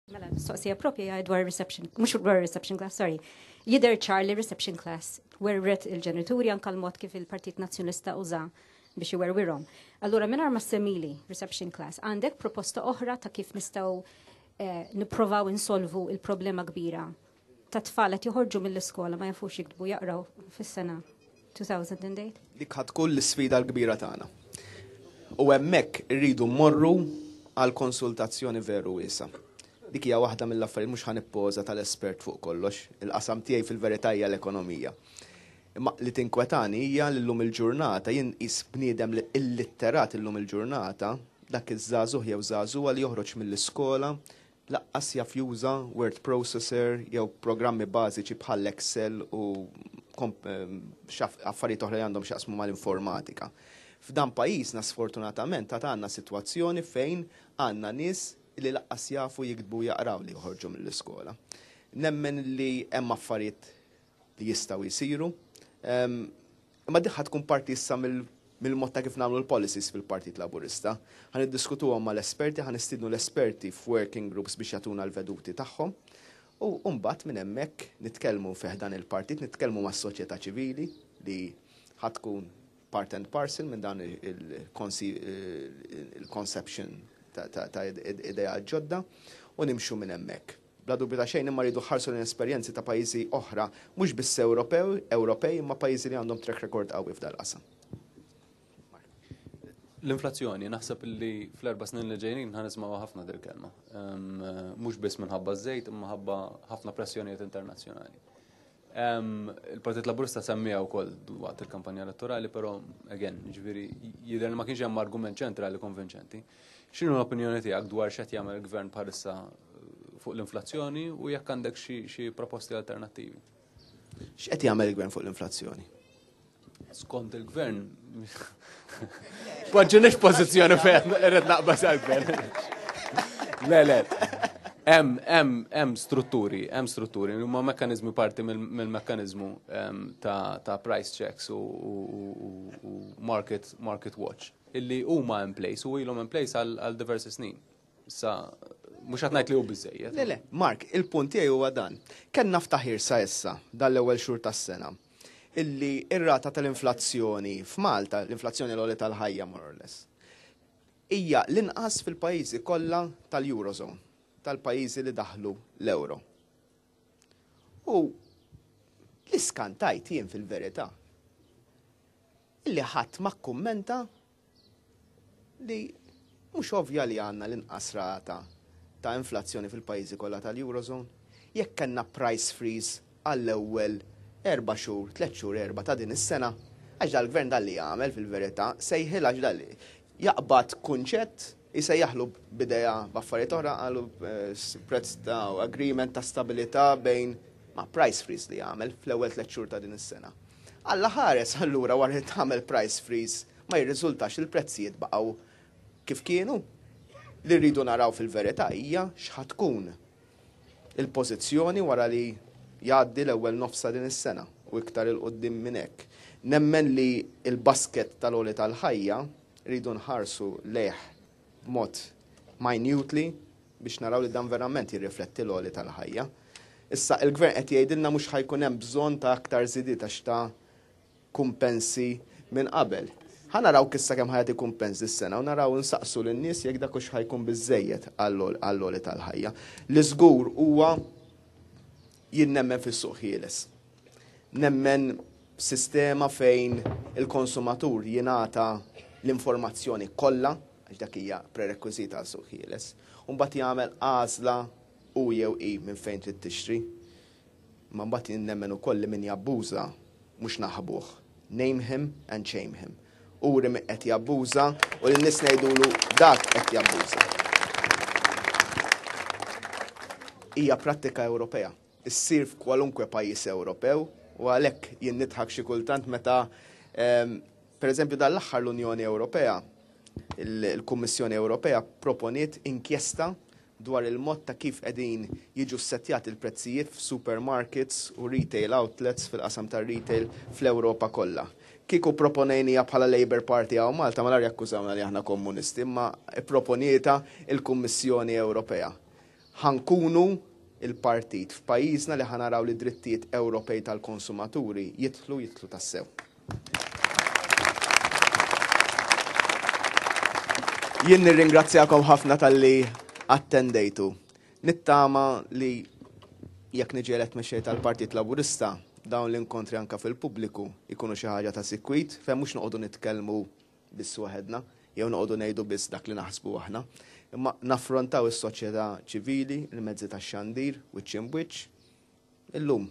Mela, mistoqsija propja hija dwar reception, mhux dwar reception class, sorry. Jidher ċar li reception class werret il-ġenituri anka l-mod kif il-Partit Nazzjonalista uża biex iwerwirhom. Allura mingħajr ma semmili reception class, għandek proposta oħra ta' kif nistgħu eh, nipprovaw insolvu il-problema kbira ta' tfal qed joħorġu mill-iskola ma jafux jiktbu jaqraw fis-sena 2008? Dik ħa tkun l-isfida l-kbira tagħna. U hemmhekk irridu mmorru għal konsultazzjoni veru wiesgħa. Dik hija waħda mill-affarijiet mhux ħa nippoża tal-espert fuq kollox, il-qasam tiegħi fil-verità hija l-ekonomija. Imma li tinkwetani hija li llum il-ġurnata jien nqis bniedem li illitterat illum il-ġurnata dak iż-żagħżugħ jew żagħżugħa li joħroġ mill-iskola Laqqas jaf juża word processor jew programmi bażiċi bħal Excel u affarijiet oħra li għandhom x'jaqsmu mal-informatika. F'dan pajjiżna sfortunatament għad għandna sitwazzjoni fejn għandna nies li laqqas jafu jiktbu u jaqraw li joħorġu mill-iskola. Nemmen li hemm affarijiet li jistgħu jsiru. Imma din ħa tkun parti issa mill-mod ta' kif nagħmlu l-policies fil-Partit Laburista. Ħa niddiskutuhom mal-esperti, ħa nistiednu l-esperti f'working groups biex jagħtuna l-veduti tagħhom. U mbagħad minn hemmhekk nitkellmu fi ħdan il-partit, nitkellmu mas-soċjetà ċivili li ħa tkun part and parcel minn dan il-conception ta' ideat ġodda u nimxu minn hemmhekk. Bla dubju ta' xejn imma rridu ħarsu lejn esperjenzi ta' pajjiżi oħra, mhux biss Ewropew, Ewropej, imma pajjiżi li għandhom track record qawwi f'dal-qasam. L-inflazzjoni, naħseb li fl-erba' snin li ġejjin ħa nismgħu ħafna dil-kelma. Mhux biss minħabba ż-żejt, imma ħabba ħafna pressjonijiet internazzjonali. Il-Partit Laburista semmija wkoll waqt il-kampanja elettorali, però again, ġifieri jidher li ma kienx hemm argument ċentrali konvinċenti. X'inhu l-opinjoni tiegħek dwar x'qed jagħmel il-gvern bħalissa eh, fuq l-inflazzjoni u jekk għandek xi proposti alternattivi? X'qed jagħmel il-gvern fuq l-inflazzjoni? Skont il-gvern, poġġinix pożizzjoni fejn irrid naqbas għal-gvern. Le, le. Hemm hemm hemm strutturi, hemm strutturi, huma mekkaniżmi parti mill-mekkaniżmu ta' ta' price checks u market market watch illi huma in place u ilhom in place għal diversi snin. Issa mhux qed ngħid li hu biżejjed. Le, le, Mark, il-punt tiegħi huwa dan. Kellna ftaħir sa issa dal-ewwel xhur tas-sena illi ir-rata tal-inflazzjoni f'Malta, l-inflazzjoni l-għoli tal-ħajja more or less, hija l-inqas fil-pajjiżi kollha tal-Eurozone, tal-pajjiżi li daħlu l-euro. U li skantajt jien fil-verità illi ħadd ma kkummenta li mhux ovvja li għandna l-inqas rata ta' inflazzjoni fil-pajjiżi kollha tal-Eurozone. Jekk kellna price freeze għall-ewwel erba' xhur, tliet xhur erba' ta' din is-sena, għax dal-gvern dan li jagħmel fil-verità, sejħilha għax dan jaqbad kunċett, isejjaħlu b'idea b'affarijiet oħra, qalu prezz ta' agreement ta' stabilità bejn ma' price freeze li għamel fl-ewwel tliet xhur ta' din is-sena. Alla ħares allura wara li tagħmel price freeze ma jirriżultax li l-prezzijiet baqgħu kif kienu. Li rridu naraw fil-verità hija x'ħa tkun il-pożizzjoni wara li jgħaddi l-ewwel nofs ta' din is-sena u iktar 'il quddiem minn hekk. Nemmen li l-basket tal-għoli tal-ħajja rridu nħarsu lejh b'mod minutely biex naraw li dan verament jirrifletti l-għoli tal-ħajja. Issa, il-Gvern qed jgħidilna mhux ħa jkun hemm bżonn ta' aktar żidiet għax ta kumpensi minn qabel. Ħa naraw issa kemm ħa jagħti kumpens dis-sena u naraw insaqsu lin-nies jekk dak hux ħa jkun biżżejjed għall-għoli tal-ħajja. Li żgur huwa jien nemmen fis-suq ħieles. Nemmen sistema fejn il-konsumatur jingħata l-informazzjoni kollha, għax dak hija prerekwiżit għal suq ħieles, u mbagħad jagħmel għażla hu jew hi minn fejn trid tixtri. Imma mbagħad jien nemmen ukoll li min jabbuża mhux naħbuh. Name him and shame him. Uri min qed jabbuża u lin-nies ngħidulu dak qed jabbuża. Hija prattika Ewropea. Issir f'kwalunkwe pajjiż Ewropew u għalhekk jien nidħak xi kultant meta ehm, pereżempju dan l-aħħar l-Unjoni Ewropea il-Kummissjoni Ewropea proponiet inkjesta dwar il-mod ta' kif qegħdin jiġu ssettjati l-prezzijiet f'supermarkets u retail outlets fil-qasam tar-retail fl-Ewropa kollha. Kieku pproponejniha bħala Labour Party hawn Malta malajr jakkużawna li aħna kommunisti imma pproponietha l-Kummissjoni Ewropea. Ħa nkunu l-partit f'pajjiżna li ħa naraw li d-drittijiet Ewropej tal-konsumaturi jidħlu jidħlu tassew. Jien nirringrazzjakom ħafna talli attendejtu. Nittama li jekk niġi elett mexxej tal-Partit Laburista, dawn l-inkontri anka fil-pubbliku jkunu xi ħaġa ta' sikwit fejn mhux noqogħdu nitkellmu biss waħedna, jew noqogħdu ngħidu biss dak li naħsbu aħna, imma naffrontaw is-soċjetà ċivili, il-mezzi tax-xandir, wiċċ imb'wiċċ. Illum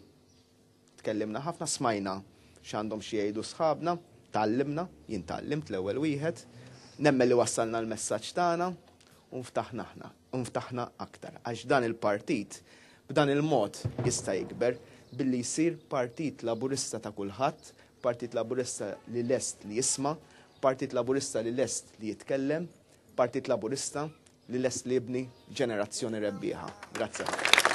tkellimna ħafna, smajna x'għandhom xi jgħidu sħabna, tgħallimna, jien tgħallimt l-ewwel wieħed, nemmen li wassalna l-messaġġ tagħna u nftaħna aħna, u nftaħna aktar għax dan il-partit b'dan il-mod jista' jikber billi jsir Partit Laburista ta' kulħadd, Partit Laburista li lest li jisma', Partit Laburista li lest li jitkellem, Partit Laburista li lest li jibni ġenerazzjoni rebbieħa. Grazzi ħafna.